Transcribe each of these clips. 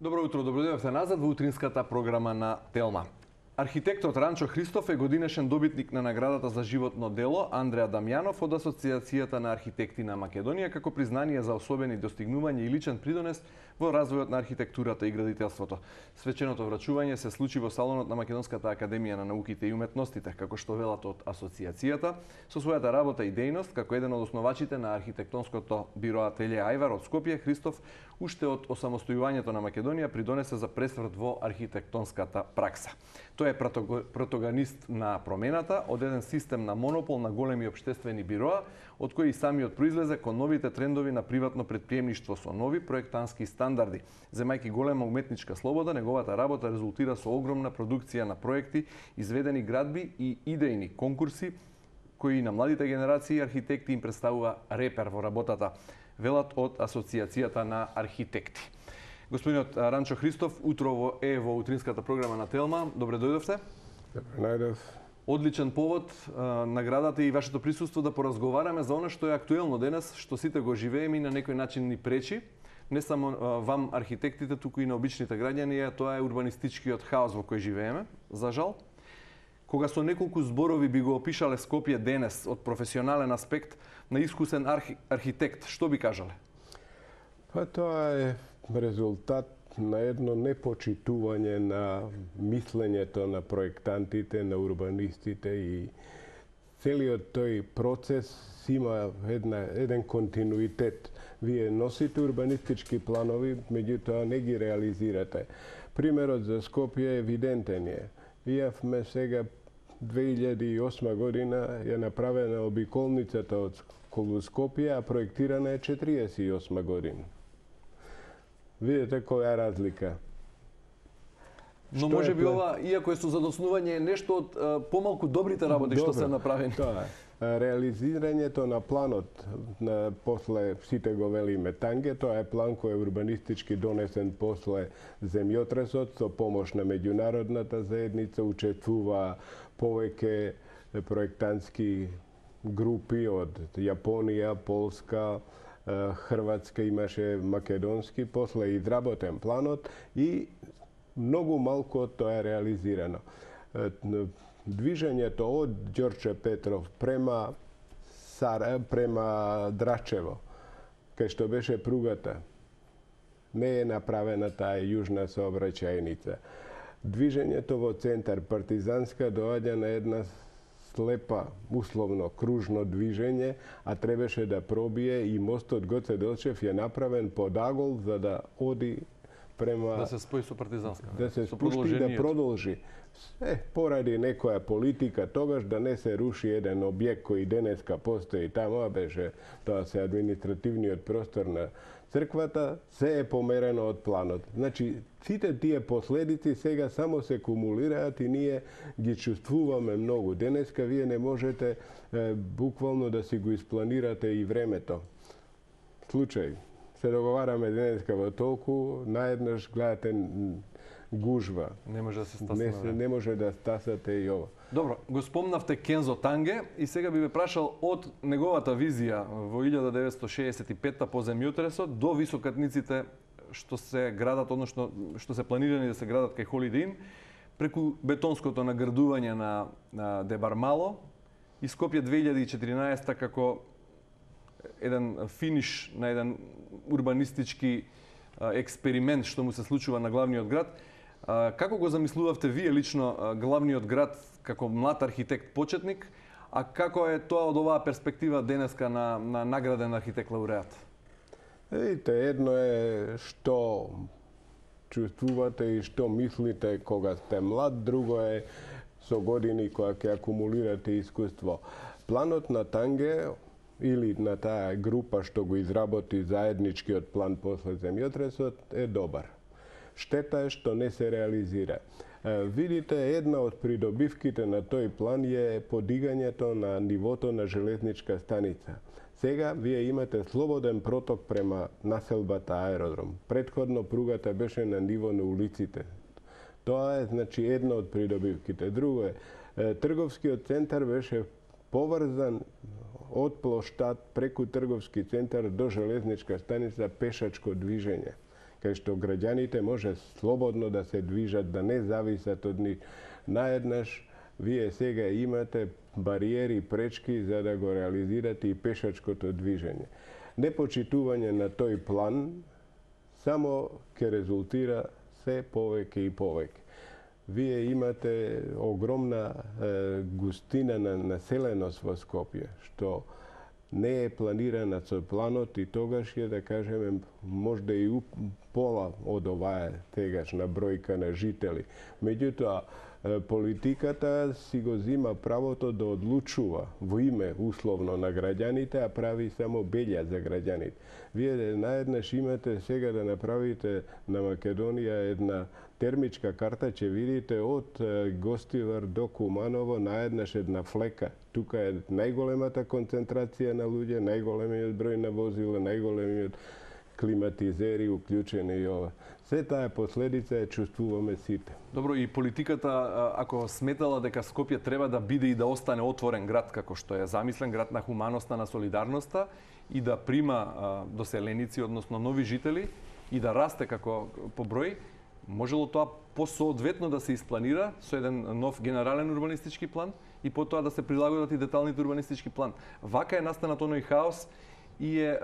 Добро утро, добродојавте назад во утринската програма на Телма. Архитектот Ранчо Христов е годинешен добитник на наградата за животно дело Андреа Дамјанов од Асоциацијата на архитекти на Македонија како признание за особени достигнувања и личен придонес во развојот на архитектурата и градителството. Свеченото врачување се случи во салонот на Македонската академија на науките и уметностите, како што велат од Асоциацијата, со својата работа и дејност како еден од основачите на архитектонското биро Ателје Ајвар од Скопје, Христов уште од осамостојувањето на Македонија придонесе за пресврт во архитектонската пракса. Тој е протагонист на промената од еден систем на монопол на големи општествени бироа, од кои и самиот произлезе кон новите трендови на приватно претприемништво со нови проектански стандарди. Земајќи голема уметничка слобода, неговата работа резултира со огромна продукција на проекти, изведени градби и идејни конкурси, кои на младите генерации архитекти им представува репер во работата, велат од Асоциацијата на архитекти. Господинот Ранчо Христов, утрово е во утринската програма на Телма. Добре дојдовте. Добре најдов. Одличен повод, наградата и вашето присуство да поразговараме за она што е актуелно денес, што сите го живееме и на некој начин ни пречи. Не само вам архитектите, туку и на обичните граѓани, тоа е урбанистичкиот хаос во кој живееме, за жал. Кога со неколку зборови би го опишале Скопје денес од професионален аспект на искусен архитект, што би кажале? Па тоа е резултат на едно непочитување на мислењето на проектантите, на урбанистите и целиот тој процес има еден континуитет. Вие носите урбанистички планови, меѓутоа не ги реализирате. Примерот за Скопје е евидентен е. Јавме сега 2008 година е направена обиколницата од Скопје, а проектирана е 48 година. Видите која е разлика. Но може би ова, иако е со задоснување, е нешто од помалку добрите работи што се направени. Тоа е. Реализирањето на планот, после сите го велиме Танге, тоа е план кој е урбанистички донесен после земјотресот, со помош на меѓународната заедница, учествува повеќе проектантски групи од Јапонија, Полска, Хрватска, имаше македонски, после изработен планот и многу малку од тоа е реализирано. Движењето од Ѓорче Петров према Драчево, кај што беше пругата, не е направена таа јужна сообраќајница. Движењето во центар Партизанска доаѓа на една слепа, условно, кружно движење, а требаше да пробие и мостот Гоце Делчев е направен под агол за да оди према... Да се спои со Партизанска. Да се спушти и да продолжи. Поради некоја политика, тогаш да не се руши еден објект кој денеска постои таму, беше тоа се административниот простор на црквата, се е померено од планот. Значи, сите тие последици сега само се кумулираат и ние ги чувствуваме многу. Денеска вие не можете буквално да си го испланирате и времето. Случај, се договараме денеска во толку, наеднаш гледате гужва. Не може да се стасне. Не може да стасате и ова. Добро, го спомнавте Кензо Танге и сега би ве прашал од неговата визија во 1965 по земјотресот до високатниците што се градат, односно што се планирани да се градат кај Holiday Inn, преку бетонското наградување на Дебармало и Скопје 2014 како еден финиш на еден урбанистички експеримент што му се случува на главниот град. Како го замислувавте вие лично главниот град како млад архитект почетник, а како е тоа од оваа перспектива денеска на награден архитект лауреат? Видите, едно е што чувствувате и што мислите кога сте млад, друго е со години кога ќе акумулирате искуство. Планот на Танге или на таа група што го изработи заедничкиот план после земјотресот е добар. Штета е што не се реализира. Видите, една од придобивките на тој план е подигањето на нивото на железничка станица. Сега вие имате слободен проток према населбата аеродром. Претходно пругата беше на ниво на улиците. Тоа е, значи, една од придобивките. Друго е, трговскиот центар беше поврзан од плоштад преку трговски центар до железничка станица пешачко движење. кај што граѓаните може слободно да се движат, да не зависат од нив. Наеднаш, вие сега имате бариери, пречки за да го реализирате и пешачкото движење. Непочитување на тој план само ќе резултира се повеќе и повеќе. Вие имате огромна густина на населеност во Скопје, што не е планирана со планот и тогаш е, да кажеме, можда и пола од оваа сегашна бројка на жители. Меѓутоа, политиката си го зима правото да одлучува во име условно на граѓаните, а прави само белја за граѓаните. Вие наеднаш имате сега да направите на Македонија една термичка карта, ќе видите од Гостивар до Куманово наеднаш една флека. Тука е најголемата концентрација на луѓе, најголемиот број на возила, најголемиот климатизери уклучени и ова. Се таа последица ја чувствуваме сите. Добро, и политиката, ако сметала дека Скопје треба да биде и да остане отворен град, како што е замислен, град на хуманоста, на солидарноста, и да прима доселеници, односно нови жители, и да расте како по број, можело тоа посоодветно да се испланира со еден нов генерален урбанистички план и потоа да се прилагодат и деталните урбанистички план. Вака е настанат оној хаос и е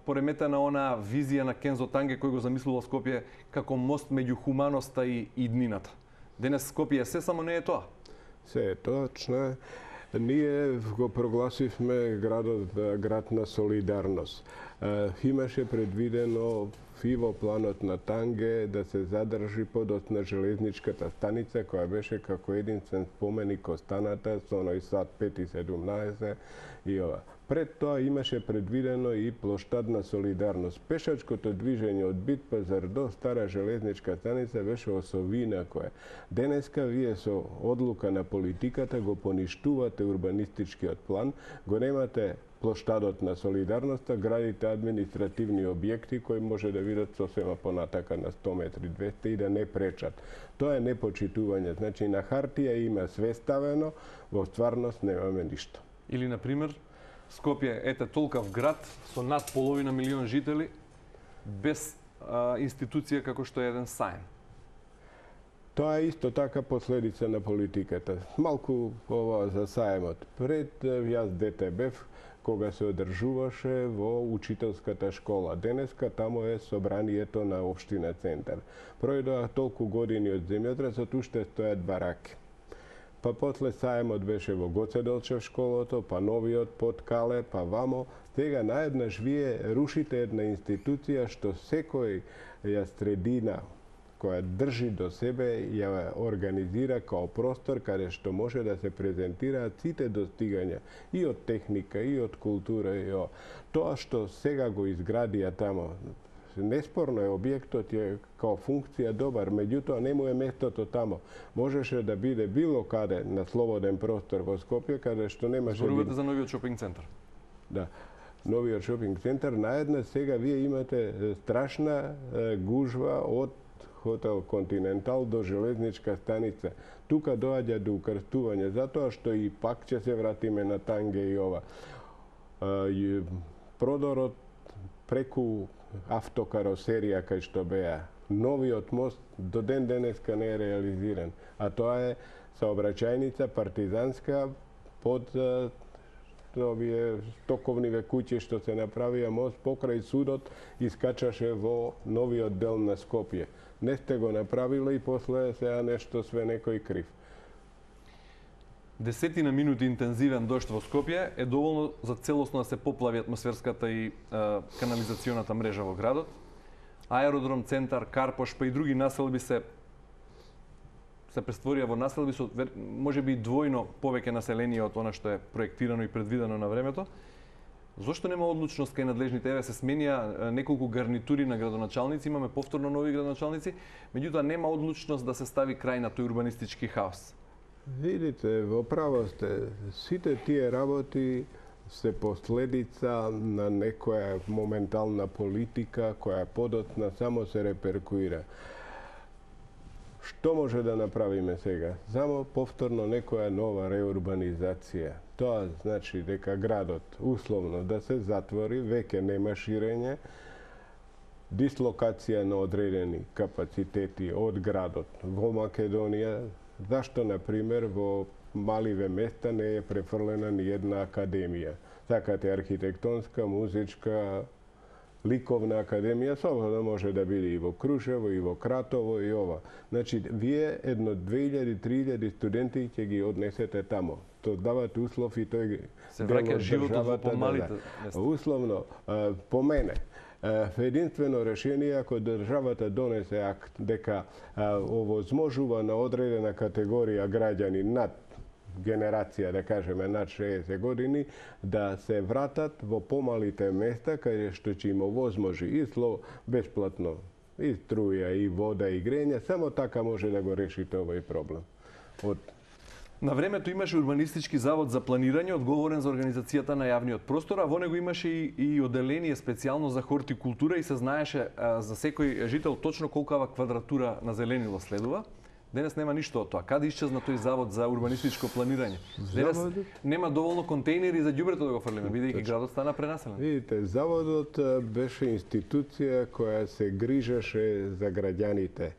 пореметена она визија на Кензо Танге кој го замислувал Скопје како мост меѓу хуманоста и иднината. Денес Скопје се, само не е тоа. Се е точно. Ние го прогласивме град на солидарност. Имаше предвидено и во планот на Танге да се задржи подоцна железничката станица, која беше како единствен споменик останата со оној сат 5:17 и ова. Пред тоа имаше предвидено и плоштадна солидарност. Пешачкото движење од Бит пазар до Стара железничка станица беше осовина која. Денеска вие со одлука на политиката го поништувате урбанистичкиот план, го немате плоштадот на солидарноста, градите административни објекти кои може да видат сосема понатака на 100 метри, 200 и да не пречат. Тоа е непочитување. Значи, на хартија има све ставено, во стварност немаме ништо. Или, например, Скопје, ете толкав град со над половина милион жители, без институција како што е еден саем. Тоа е исто така последица на политиката. Малку ова за саемот. Пред јас дете бев, кога се одржуваше во учителската школа. Денеска тамо е собранието на општина Центар. Пројдоа толку години од земјотресот, уште стојат бараки. Па после саемот беше во Гоце Делчев школото, па новиот под Кале, па вамо. Сега наеднаш вие рушите една институција што секоја средина која држи до себе ја организира као простор каде што може да се презентираат сите достигања и од техника, и од култура, и тоа што сега го изградија тамо. Неспорно е, објектот е као функција добар, меѓутоа не му е местото тамо. Можеше да биде било каде на слободен простор во Скопје, каде што немаше... Зборувате за новиот шопинг центар. Да. Новиот шопинг центар, наеднаш сега вие имате страшна гужва од Хотел Континентал до железничка станица. Тука доаѓа до укрстување, затоа што и пак ќе се вратиме на Танге и ова. Продорот преку автокаросерија кај што беа. Новиот мост до ден денеска не е реализиран, а тоа е саобраќајница партизанска под овие стоковниве куќи што се направија мост покрај судот и скачаше во новиот дел на Скопје. Не сте го направиле и после сега нешто све некој крив. Десетина минути интензивен дожд во Скопје е доволно за целосно да се поплави атмосферската и канализационата мрежа во градот. Аеродром, центар, Карпош, па и други населби се престворија во населби со можеби двојно повеќе население од она што е проектирано и предвидено на времето. Зошто нема одлучност кај надлежните? Еве се сменија неколку гарнитури на градоначалници, имаме повторно нови градоначалници, меѓутоа нема одлучност да се стави крај на тој урбанистички хаос. Видите, во право сте, сите тие работи се последица на некоја моментална политика која подоцна само се реперкуира. Што може да направиме сега? Само повторно некоја нова реурбанизација. Тоа значи дека градот условно да се затвори, веќе нема ширење дислокација на одредени капацитети од градот во Македонија, зашто, например, во маливе места не е префрлена ни една академија. Сакате архитектонска, музичка, ликовна академија, слободно може да биде и во Крушево, и во Кратово, и ова. Значи, вие едно 2000-3000 студенти ќе ги однесете тамо. Тоа давате услов и тој се враќа животот во помалите места. Условно, по мене, единствено решение ако државата донесе акт дека овозможува на одредена категорија граѓани над генерација, да кажеме, над 60 години, да се вратат во помалите места, каде што ќе им овозможи и бесплатно, и струја, и вода, и грење, само така може да го решите овој проблем. На времето имаше урбанистички завод за планирање, одговорен за организацијата на јавниот простор, а во него имаше и оделение специјално за хортикултура и се знаеше за секој жител точно колкава квадратура на зеленило следува. Денес нема ништо од тоа. Каде исчезна тој завод за урбанистичко планирање? Денес нема доволно контејнери за ѓубрето да го фрлиме, бидејќи градот стана пренаселен. Видите, заводот беше институција која се грижеше за граѓаните.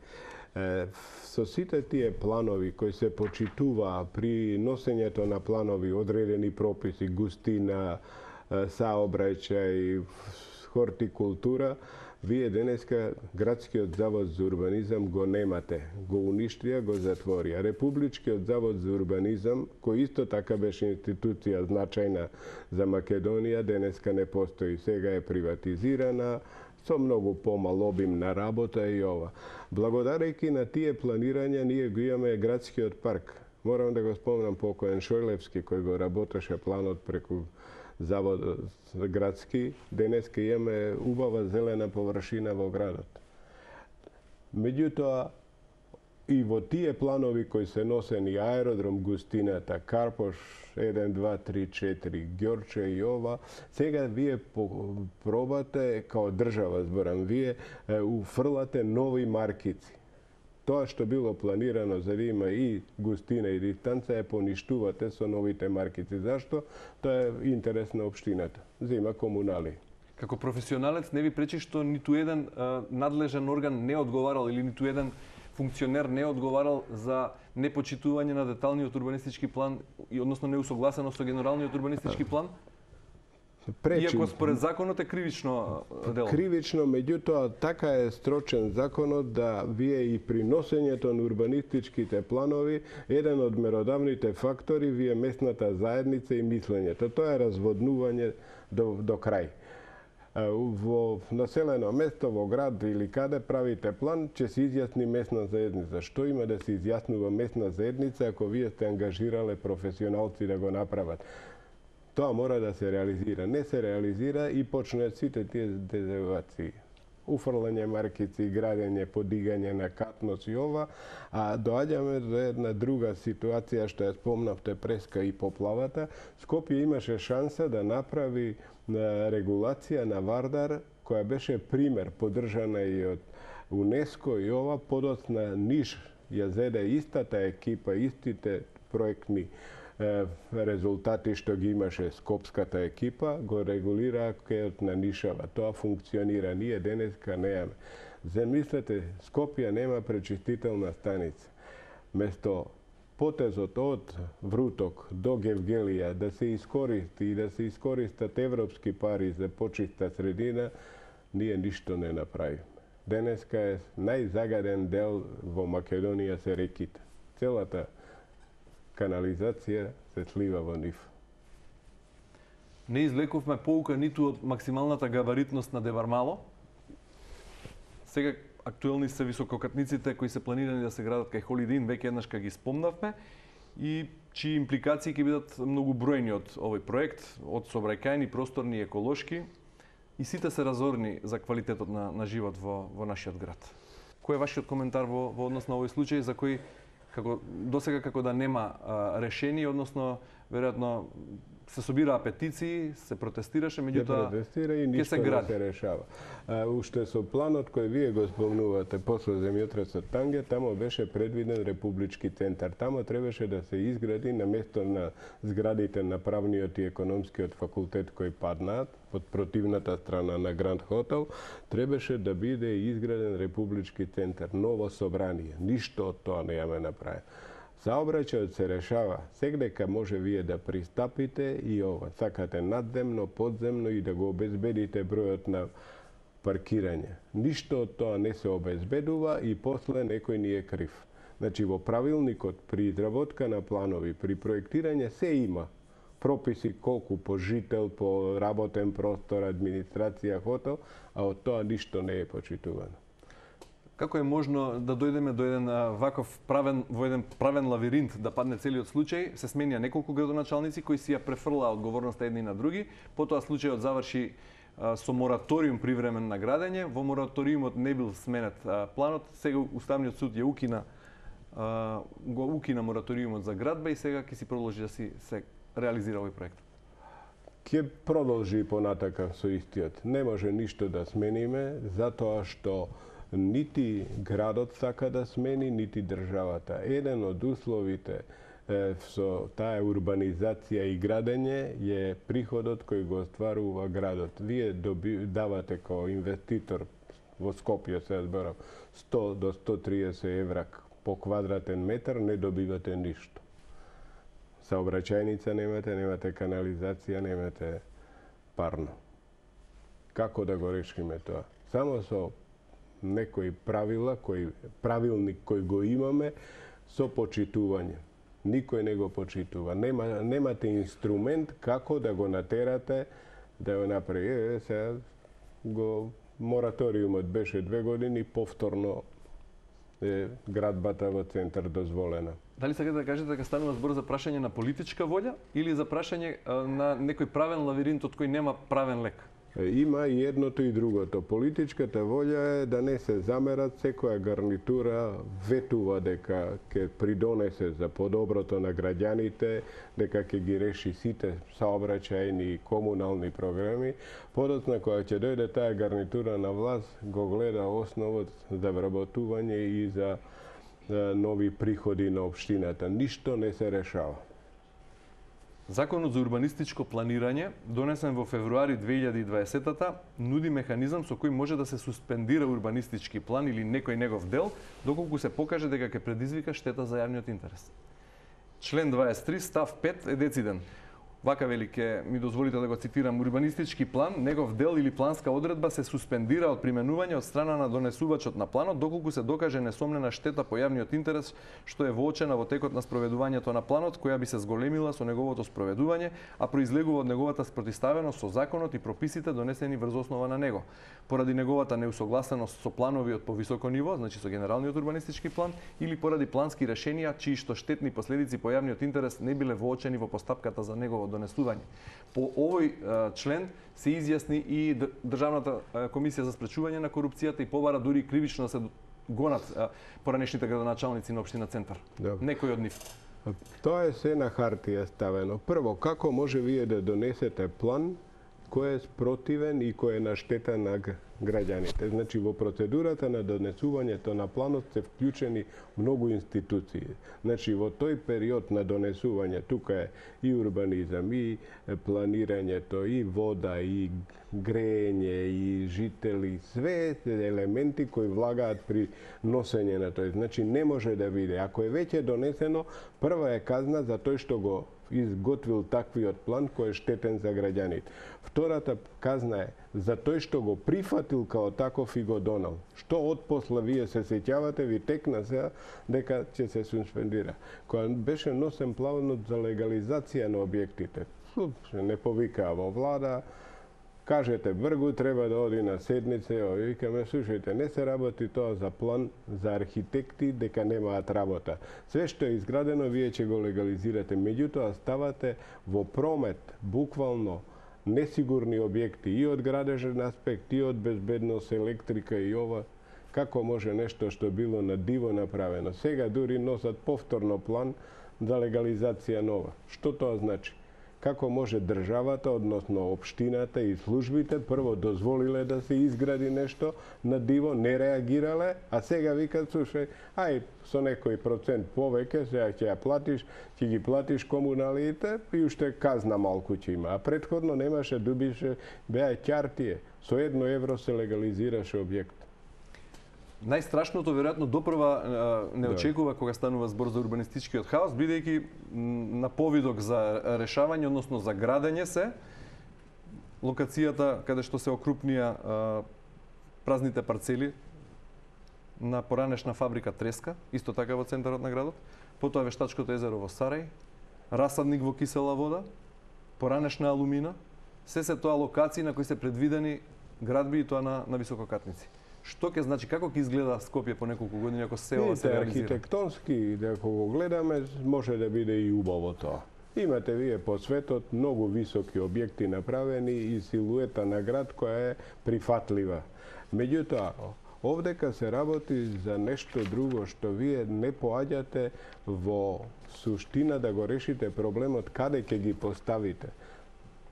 Со сите тие планови кои се почитуваа при носењето на планови, одредени прописи, густина, саобраќај, хортикултура, вие денеска градскиот завод за урбанизам го немате. Го уништија, го затворија. Републичкиот завод за урбанизам, кој исто така беше институција значајна за Македонија, денеска не постои. Сега е приватизирана, со многу помал обим на работа и ова. Благодарејќи на тие планирања, ние го имаме градскиот парк. Морам да го спомнам покоен Шојлевски, кој го работеше планот преку заводот градски. Денеска имаме убава зелена површина во градот. Меѓутоа, и во тие планови кои се носени аеродром, густината, Карпош, 1, 2, 3, 4, Ѓорче и ова, сега вие пробате, као држава зборам, вие уфрлате нови маркици. Тоа што било планирано за да има и густина и дистанца, поништувате со новите маркици. Зашто? Тоа е интерес на општината. Зема комунали. Како професионалец не ви пречи што ниту еден надлежен орган не одговарал или ниту еден функционер не одговарал за непочитување на деталниот урбанистички план и односно неусогласено со генералниот урбанистички план? Пречи. Иако според законот е кривично дело. Кривично, меѓутоа така е строчен законот да вие и при носењето на урбанистичките планови, еден од меродавните фактори вие местната заедница и мислењето. Тоа е разводнување до крај. Во населено место, во град или каде правите план, ќе се изјасни местна заедница. Што има да се изјаснува местна заедница ако вие сте ангажирале професионалци да го направат? Тоа мора да се реализира. Не се реализира и почнат сите тие дезавуации. Уфрлање маркици, градење, подигање на катност и ова, а доаѓаме до една друга ситуација што ја спомнавте преска и поплавата. Скопје имаше шанса да направи регулација на Вардар, која беше пример, поддржана и од УНЕСКО и ова, подоцна Ниш ја зеде истата екипа, истите проектни резултати што ги имаше скопската екипа, го регулира кајот на Нишава. Тоа функционира. Ние денеска неаме. Замислете, Скопје нема пречистителна станица. Место потезот од Вруток до Гевгелија да се искористи и да се искористат европски пари за почиста средина, ние ништо не направиме. Денеска е најзагаден дел во Македонија се реките. Целата канализација се слива во нив. Не извлековме поука ниту од максималната габаритност на Девармало. Сега актуелни се висококатниците кои се планирани да се градат кај Холидин, веќе еднаш ги спомнавме, и чии импликации ќе бидат многу бројни од овој проект, од сообраќајни, просторни, еколошки, и сите се разорни за квалитетот на живот во нашиот град. Кој е вашиот коментар во однос на овој случај за кој досега како да нема решение, односно веројатно се собираа петиции, се протестираше, меѓутоа протестира и ништо не се решава. Уште со планот кој вие го спомнувате после земјотресот Танге, тамо беше предвиден републички центар. Тамо требаше да се изгради на место на зградите на правниот и економскиот факултет кои паднаат од противната страна на Гранд Хотел, требаше да биде изграден републички центар, ново собрание. Ништо од тоа не ја направи. Саобраќајот се решава сегдека може вие да пристапите и ова. Сакате надземно, подземно и да го обезбедите бројот на паркирање. Ништо од тоа не се обезбедува и после некој ни е крив. Значи во правилникот при изработка на планови, при проектирање се има прописи колку по жител, по работен простор, администрација, хотел, а од тоа ништо не е почитувано. Како е можно да дојдеме до еден во еден правен лавиринт да падне целиот случај? Се сменија неколку градоначалници кои си ја префрлаа одговорноста едни на други, потоа случајот заврши со мораториум привремен на градење, во мораториумот не бил сменет планот, сега Уставниот суд ја го укина мораториумот за градба и сега ќе си продолжи да се реализира овој проект. Ќе продолжи понатака со истиот. Не може ништо да смениме, затоа што нити градот сака да смени, нити државата. Еден од условите со таа урбанизација и градење е приходот кој го остварува градот. Вие давате како инвеститор во Скопје, се зборам, 100 до 130 евра по квадратен метар, не добивате ништо. Саобраќајница немате канализација, немате парно. Како да го решиме тоа? Само со некои правилник кој го имаме со почитување. Никој не го почитува. Немате инструмент како да го натерате да го направи. Сега мораториумот беше 2 години, повторно градбата во центар дозволена. Дали сакате да кажете дека станува збор за прашање на политичка волја или за прашање на некој правен лавиринт од кој нема правен лек? Има и едното и другото. Политичката волја е да не се замерат, секоја гарнитура ветува дека ќе придонесе за подоброто на граѓаните, дека ќе ги реши сите саобраќајни и комунални програми. Подоцна кога ќе дојде таа гарнитура на власт, го гледа основот за вработување и за нови приходи на општината. Ништо не се решава. Законот за урбанистичко планирање, донесен во февруари 2020-та, нуди механизам со кој може да се суспендира урбанистички план или некој негов дел, доколку се покаже дека ќе предизвика штета за јавниот интерес. Член 23, став 5 е дециден. Вака вели, ке ми дозволите да го цитирам: урбанистички план, негов дел или планска одредба се суспендира од применување од страна на донесувачот на планот, доколку се докаже несомнена штета по јавниот интерес што е воочена во текот на спроведувањето на планот, која би се зголемила со неговото спроведување, а произлегува од неговата спротиставеност со законот и прописите донесени врз основа на него. Поради неговата неусогласеност со планови од повисоко ниво, значи со генералниот урбанистички план, или поради плански решенија чии што штетни последици по јавниот интерес не биле воочени во постапката за негово донесување. По овој член се изјасни и Државната комисија за спречување на корупцијата и побара дури кривично да се гонат поранешните градоначалници на општина Центар. Некој од нив. Тоа е се на хартија ставено. Прво, како може вие да донесете план кој е спротивен и кој е на штета на граѓаните? Значи, во процедурата на донесувањето на планот се вклучени многу институции. Значи, во тој период на донесување, тука е и урбанизам, и планирањето, и вода, и грејење, и жители, све елементи кои влагаат при носење на тој. Значи, не може да биде. Ако е веќе донесено, прва е казна за тој што го изготвил таквиот план кој е штетен за граѓаните. Втората казна е за тој што го прифатил као таков и го донал. Што отпосла вие се сеќавате, ви текна сега дека ќе се суспендира. Кога беше носен планот за легализација на објектите, не повикаа во влада, кажете Бргу треба да оди на седница, викаме, слушајте, не се работи тоа за план за архитекти дека немаат работа. Све што е изградено вие ќе го легализирате, меѓутоа ставате во промет буквално несигурни објекти и од градежен аспект, и од безбедност, електрика и ова. Како може нешто што било на диво направено? Сега дури носат повторно план за легализација нова. Што тоа значи? како може државата, односно општината и службите прво дозволиле да се изгради нешто на диво, не реагирале, а сега викат, слушај, ај со некој процент повеќе, сега ќе ја платиш, ќе ги платиш комуналите и уште казна малку ќе има. А претходно немаше, дубише, беа ќартие. Со 1 евро се легализираше објект. Најстрашното веројатно допрва не очекува кога станува збор за урбанистичкиот хаос, бидејќи на повидок за решавање, односно за градење се локацијата каде што се окрупнија празните парцели на поранешна фабрика Треска, исто така во центарот на градот, потоа Вештачкото езеро во Сарај, расадник во кисела вода, поранешна алумина, се тоа локации на кои се предвидени градби и тоа на висококатници. Што ќе значи, како ќе изгледа Скопје по неколку години ако се ова се реализира? Архитектонски, ако го гледаме, може да биде и убаво тоа. Имате вие по светот многу високи објекти направени и силуета на град која е прифатлива. Меѓутоа, овдека се работи за нешто друго што вие не поаѓате во суштина да го решите проблемот каде ќе ги поставите.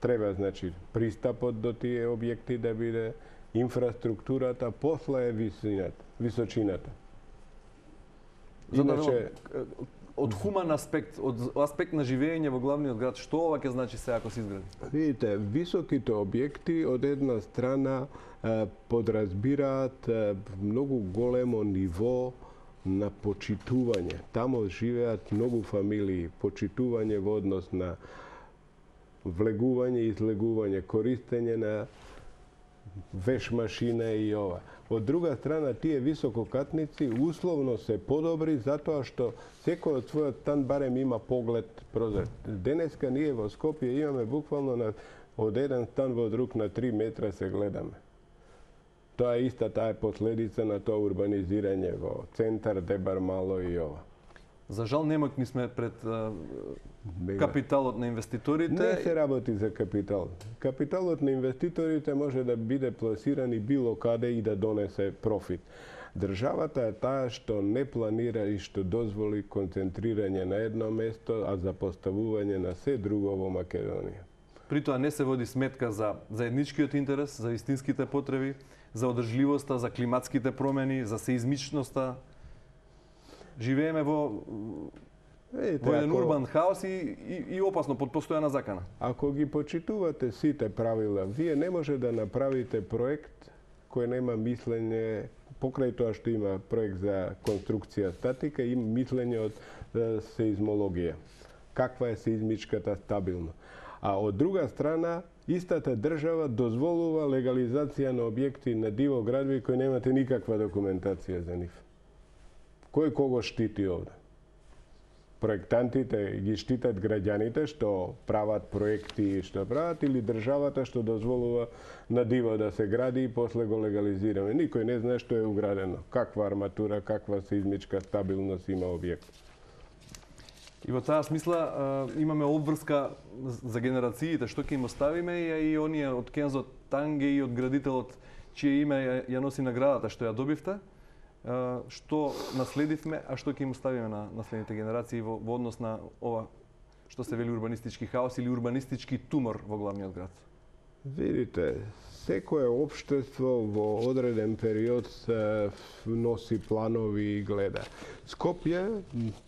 Треба, значи, пристапот до тие објекти да биде, инфраструктурата, после е височината. Иначе, од хуман аспект, од аспект на живење во главниот град, што ова ќе значи се ако се изгради? Видите, високите објекти од една страна подразбираат многу големо ниво на почитување. Тамо живеат многу фамилии, почитување во однос на влегување и излегување, користење на веш машина и ова. Од друга страна, тие висококатници условно се подобри затоа што секој од својот стан барем има поглед прозор. Денеска ние во Скопје имаме буквално од еден стан во друг на 3 метра се гледаме. Тоа е таа последица на тоа урбанизирање во центар, Дебар мало и ова. За жал немокни сме пред капиталот на инвеститорите. Не се работи за капитал. Капиталот на инвеститорите може да биде пласиран и било каде и да донесе профит. Државата е таа што не планира и што дозволи концентрирање на едно место, а запоставување на се друго во Македонија. При тоа не се води сметка за заедничкиот интерес, за вистинските потреби, за одржливоста, за климатските промени, за сеизмичноста. Живееме во еден урбан хаос и опасно под постојана закана. Ако ги почитувате сите правила, вие не може да направите проект кој нема мислење, покрај тоа што има проект за конструкција статика, има мислење од сеизмологија. Каква е сеизмичката стабилно. А од друга страна, истата држава дозволува легализација на објекти на диво градби кои немате никаква документација за нив. Кој кого штити овде? Проектантите ги штитат граѓаните што прават проекти што прават или државата што дозволува на диво да се гради и после го легализираме. Никој не знае што е уградено, каква арматура, каква сеизмичка стабилност има објект. И во таа смисла имаме обврска за генерациите што ќе им оставиме и оние од Кензо Танге и од градителот чие име ја носи наградата што ја добивте. Што наследивме, а што ќе им оставиме на наследните генерации во однос на ова што се вели урбанистички хаос или урбанистички тумор во главниот град? Видите, секое општество во одреден период носи планови и гледа. Скопје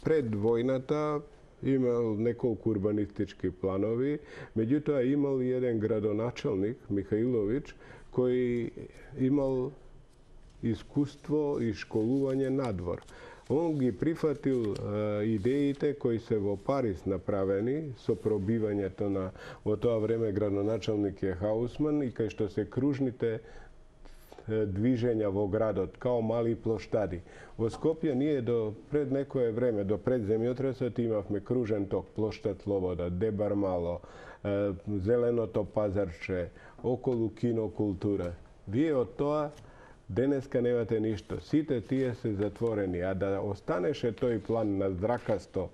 пред војната имал неколку урбанистички планови, меѓутоа имал и еден градоначалник, Михаиловиќ, кој имал искуство и школување надвор. Он ги прифатил идеите кои се во Париз направени со пробивањето на во тоа време градоначалник е Хаусман и кај што се кружните движења во градот као мали плоштади. Во Скопје ние до пред некое време, до пред земјотресот имавме кружен ток, плоштад Слобода, Дебар мало, Зеленото пазарче, околу кинокултура. Вие од тоа денеска немате ништо. Сите тие се затворени, а да останеше тој план на здракасто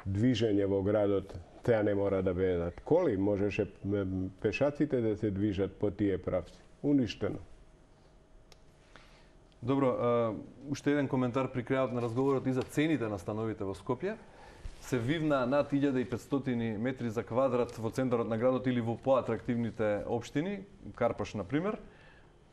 движење во градот, теа не мора да бидат коли, можеше пешаците да се движат по тие правци. Уништено. Добро, уште еден коментар при крајот на разговорот и за цените на становите во Скопје. се вивна над 1500 метри за квадрат во центарот на градот или во поатрактивните општини, Карпош на пример,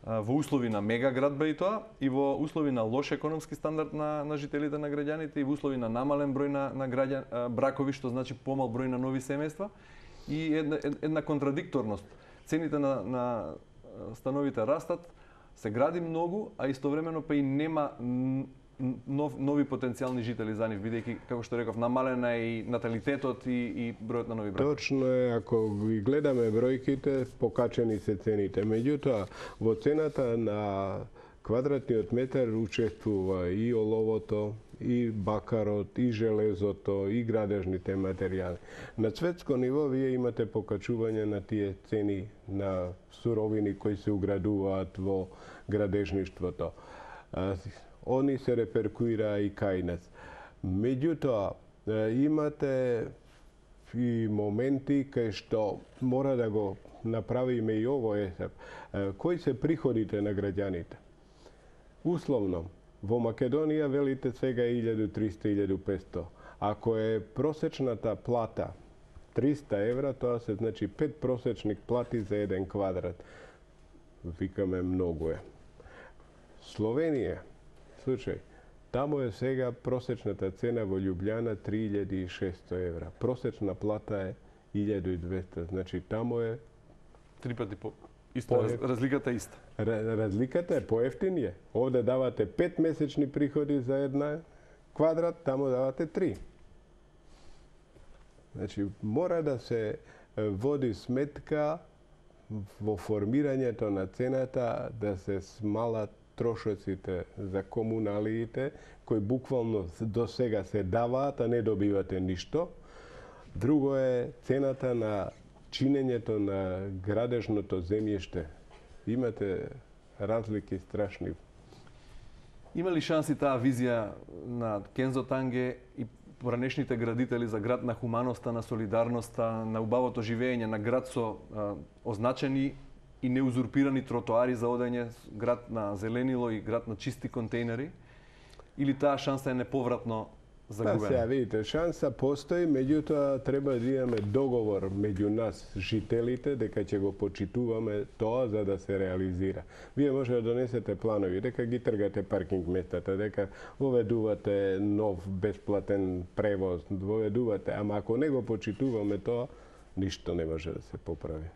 во услови на мегаградба и тоа, и во услови на лош економски стандард на жителите, на граѓаните, и во услови на намален број на бракови, што значи помал број на нови семејства, и една контрадикторност. Цените на становите растат, се гради многу, а истовремено па и нема нови потенцијални жители за нив, бидејќи, како што реков, намалена и наталитетот и бројот на нови бракови. Точно е, ако ги гледаме бројките, покачени се цените. Меѓутоа, во цената на квадратниот метар учествува и оловото, и бакарот, и железото, и градежните материјали. На светско ниво вие имате покачување на тие цени на суровини кои се уградуваат во градежништвото. Они се реперкуира и кај нас. Меѓутоа, имате и моменти кај што мора да го направиме и овој есеп. Кои се приходите на граѓаните? Условно, во Македонија велите сега 1300-1500. Ако е просечната плата 300 евра, тоа се значи 5 просечник плати за еден квадрат. Викаме многу е. Словенија, случај, таму е сега просечната цена во Љубљана 3600 евра. Просечна плата е 1200, значи таму е 3 пати по исто, разликата е иста. Разликата е поевтинија. Овде давате 5 месечни приходи за една квадрат, таму давате 3. Значи, мора да се води сметка во формирањето на цената, да се смалат трошоците за комуналиите, кои буквално до сега се даваат, а не добивате ништо. Друго е цената на чинењето на градежното земјиште. Имате разлики страшни. Има ли шанси таа визија на Кензо Танге и поранешните градители за град на хуманоста, на солидарноста, на убавото живење, на град со означени и неузурпирани тротоари за одење, град на зеленило и град на чисти контейнери? Или таа шанса е неповратно загубена? Сега видите, шанса постои, меѓутоа треба да имаме договор меѓу нас, жителите, дека ќе го почитуваме тоа за да се реализира. Вие може да донесете планови, дека ги тргате паркинг местата, дека воведувате нов бесплатен превоз, воведувате, ама ако не го почитуваме тоа, ништо не може да се поправи.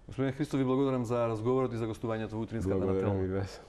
Господин Христов, ви благодарам за разговорот и за гостувањето во утринската на Телма. Благодарам и вас.